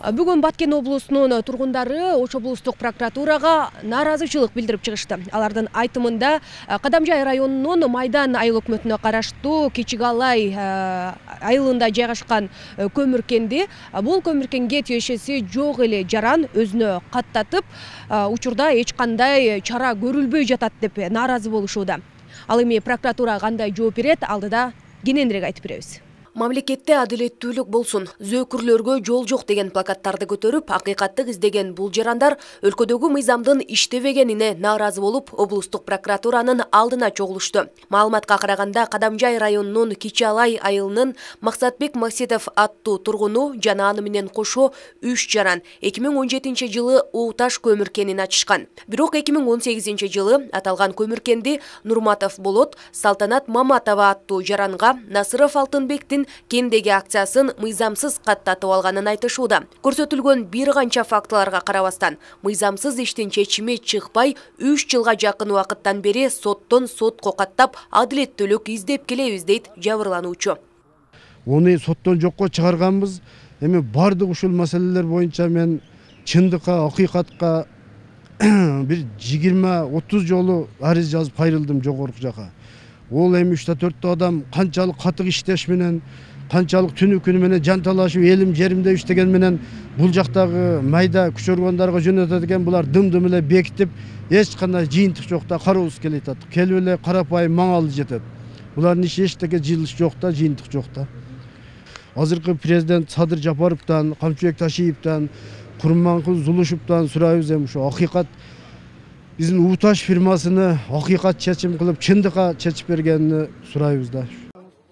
Бүгүн Баткен облусунун тургундары Ош облустук прокуратурага нааразычылык билдирип чыгышты. Алардын айтымында Кадамжай районунун Майдан айыл өкмөтүнө караштуу Кичи Алай айылында жайгашкан көмүркенди бул көмүркенге тиешеси жок эле жаран өзүнө каттатып, учурда эч кандай чара көрүлбөй жатат деп нааразы болушууда. Ал эми прокуратура кандай жооп берет, алдыда кененирээк айтып беребиз. Мамлекетте адилеттүүлүк болсун, зөөкүрлөргө жол жок деген плакаттарды көтөрүп, акыйкатты издеген бул жарандар өлкөдөгү мыйзамдын иштебегенине нааразы болуп, облустук прокуратуранын алдына чогулушту. Маалыматка караганда, Кадамжай районунун Кичи Алай айылынын Максатбек Максидов аттуу тургуну жана аны менен кошо 3 жаран 2017-жылы Ууташ көмүркенин ачышкан. Бирок 2018-жылы аталган көмүркенди Нурматов Болот, Салтанат Маматова аттуу жаранга Насыров Алтынбектин кендеги акциясын мыйзамсыз каттатып алганын айтышууда. Көрсөтүлгөн бир канча фактыларга карабастан, мыйзамсыз иштин чечими чыкпай 3 жылга жакын убакыттан бери соттон сотко каттап, адилеттүүлүк издеп келебиз дейт жабырлануучу. Оны соттон жокко чыгарганбыз. Эми бардык ушул маселелер боюнча мен чындыкка, акыйкатка бир 20-30 жолу арыз жазып кайрылдым жогорку жака. Ол эми 3-4 адам канчалык катык иштеш менен, канчалык түнү күнү менен жанталашып, элим жеримде иштеген менен бул жактагы майда күч органдарга жөнөтөт экен. Булар дым-дым эле бекитип, эч кандай жыйынтык жок да, кароосуз келип атат. Келип эле карапайым маңалы жетет. Булардын иши эчтеке жылыш жок да, жыйынтык жок да. Азыркы президент Садыр Жапаровдон, Камчыбек Ташиевден, Курманкул Зулушевден сурайбыз, эми ушу акыйкат биздин Ууташ фирмасыны акыйкат чечим кылып, чындыкка чечип бергенин сурайбыз да.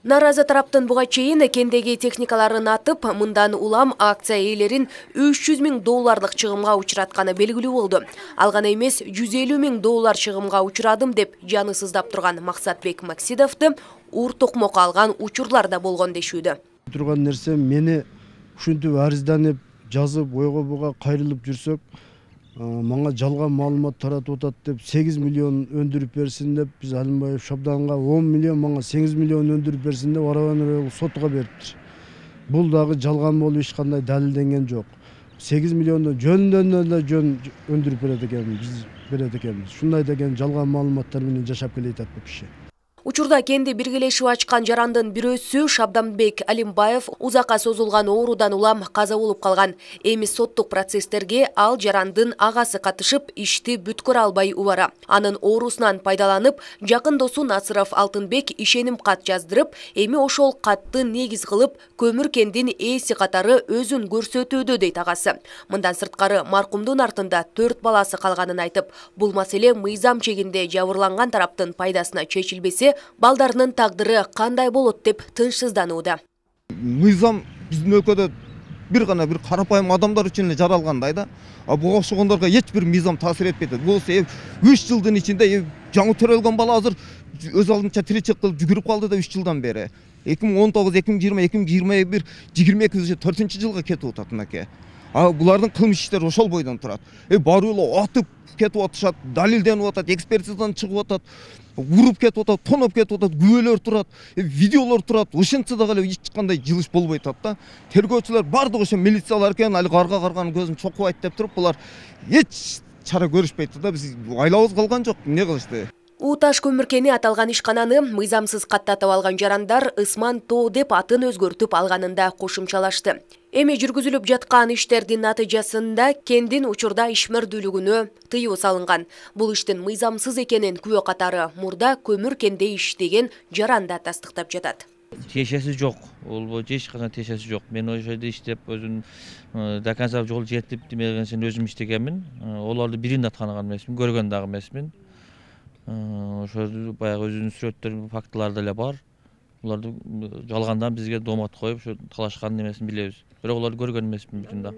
Наразы тараптын буга чейин кендеги техникаларын атып, мындан улам акция ээлерин $300,000 чыгымга учуратканы белгилүү болду. Ал гана эмес, $150,000 чыгымга учурадым деп жаны сыздап турган Максатбек Максидовду ур токмок алган учурлар да болгон дешүүдө. Турган нерсе, мени ушинтип арызданып, жазып, ойго буга кайрылып жүрсөк, мага жалган маалымат таратып атат деп 8 миллион өндүрүп берсин деп, биз Алимбаев Шабданга 10 миллион, мага 8 миллион өндүрүп берсин деп арабаны сотко бериптир. Бул дагы жалган болуп эч кандай далилденген жок. 8 миллионду жөндөн эле жөн өндүрүп берет экенбиз, биз берет экенбиз. Шундай деген жалган маалыматтар менен жашап келет атат бул киши. Учурда кенди биргелешип ачкан жарандын бирөөсү Шабданбек Алимбаев узакка созулган оорудан улам каза болуп калган. Эми соттук процесстерге ал жарандын агасы катышып, ишти бүткөрө албай убара. Анын оорусунан пайдаланып, жакын досу Насыров Алтынбек ишеним кат жаздырып, эми ошол катты негиз кылып, көмүркендин ээси катары өзүн көрсөтүүдө дейт агасы. Мындан сырткары маркумдун артында 4 баласы калганын айтып, бул маселе мыйзам чегинде жабырланган тараптын пайдасына чечилбесе, балдарынын тагдыры кандай болот деп тынчсызданууда. Мыйзам биздин өлкөдө бир карапайым адамдар үчүн эле жаралгандай да. Буга окшогондорго эч бир мыйзам таасир этпейт. Бул 3 жылдын ичинде жаңы төрөлгөн бала азыр өз алдынча тиричилик кылып жүгүрүп калды да 3 жылдан бери. 2019, 2020, 2021, 22 4-жылга кетип атат мынакей. Булардын кылмыш иштери ошол бойдон турат. Баары эле атып кетип атышат, далилденип атат, экспертизадан чыгып атат, уруп кетип атат, тоноп кетип атат, күбөлөр турат, видеолор турат. Ошентсе дагы эле эч кандай жылыш болбой атат да. Тергөөчүлөр бардыгы ошо милициялар экен, али карганын көзүн чокубайт деп туруп, булар эч чара көрүшпөйт да. Биз айлабыз калган жок, эмне кылышты? Ууташ көмүркени аталган ишкананы мыйзамсыз каттатып алган жарандар Ысман Тоо деп атын өзгөртүп алганында кошумчалашты. Эми жүргүзүлүп жаткан иштердин натыйжасында кендин учурда ишмердүүлүгүнө тыюу салынган. Бул иштин мыйзамсыз экенин күбө катары мурда көмүркенде иштеген жаран да тастыктап жатат. Тиешеси жок. Ол боюнча эч кандай тиешеси жок. Мен ошол жерде иштеп, өзүм до конца жол жетип демегенсен өзүм иштегенмин. Оларды бирин да тааныган эмесмин, көргөн дагы эмесмин. Ошол баягы өзүнүн сүрөттөрү, фактылары деле бар. Буларды жалгандан бизге доомат коюп, ошо талашкан эмесин билебиз. Бирок оларды көргөн эмесмин бүтүн да.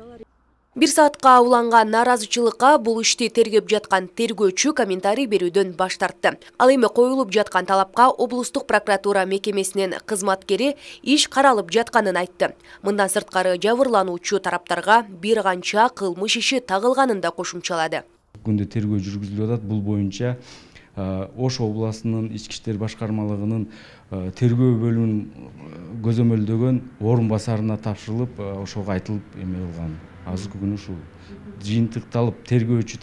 1 саатка уланган нааразычылыкка бул ишти тергеп жаткан тергөөчү комментарий берүүдөн баш тартты. Ал эми коюлуп жаткан талапка облустук прокуратура мекемесинин кызматкери иш каралып жатканын айтты. Мындан сырткары жабырлануучу тараптарга бир канча кылмыш иши тагылганын да кошумчалады. Күндө тергөө жүргүзүлүп атат. Бул боюнча Ош областынын ички иштер башкармалыгынын тергөө бөлүмүнүн көзөмөлдөгөн орун басарына тапшырылып, ошого айтылып эме кылган. азыркы күнү ушул жыйынтыкталып тергөөчү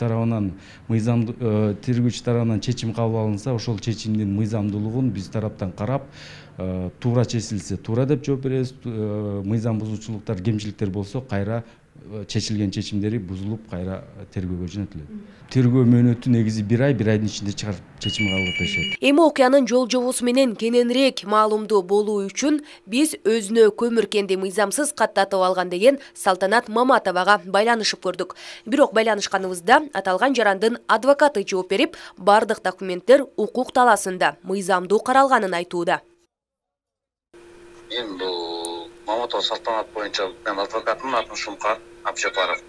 тарабынан чечим кабыл алынса, ошол чечимдин мыйзамдуулугун биз тараптан карап, туура чечилсе туура деп жооп беребиз, мыйзам бузуучулуктар, кемчиликтер болсо кайра чечилген чечимдери бузулуп кайра тергөөгө жөнөтүлөт. Тергөө мөөнөтү негизи 1 ай, 1 айдын ичинде чыгарып чечим кабыл алып беришет. Эми окуянын жол жобосу менен кененирээк маалымдуу болуу үчүн биз өзүнө көмүркенди мыйзамсыз каттатып алган деген Салтанат Маматовага байланышып көрдүк. Бирок байланышканыбызда аталган жарандын адвокаты жооп берип, бардык документтер укук талаасында мыйзамдуу каралганын айтууда. Мен бул Маматова Салтанат боюнча мен адвокатымын, атым Шумкар Абжапаров.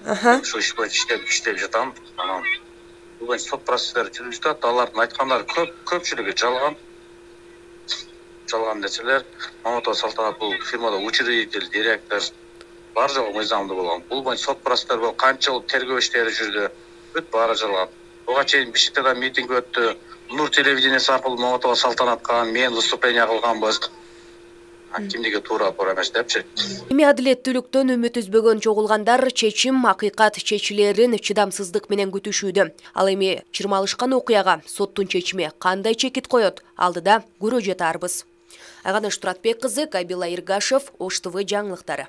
Ошо иш боюнча иштеп жатам. Анан бул боюнча сот процесстери жүрүп жатат. Алардын айткандары көпчүлүгү жалган. Жалган нерселер. Маматова Салтанат бул фирмада учредитель, директор бар жогу мыйзамдуу болгон. Бул боюнча сот процесстери болуп канча жыл тергөө иштери жүрдү. Бүт баары жалган. Буга чейин Бишкекте митинг өттү. Нур телевидениеси аркылуу Маматова Салтанатка мен выступление кылганбыз. Кимдиги туура эмес депчи. Эми адилеттүүлүктөн үмүт үзбөгөн чогулгандар чечим акыйкат чечилерин чыдамсыздык менен күтүшүүдө. Ал эми чырмалышкан окуяга соттун чечими кандай чекит коет, алдыда көрө жатарбыз. Айганыш Туратбек кызы, Кабила Иргашев, Ош ТВ жаңылыктары.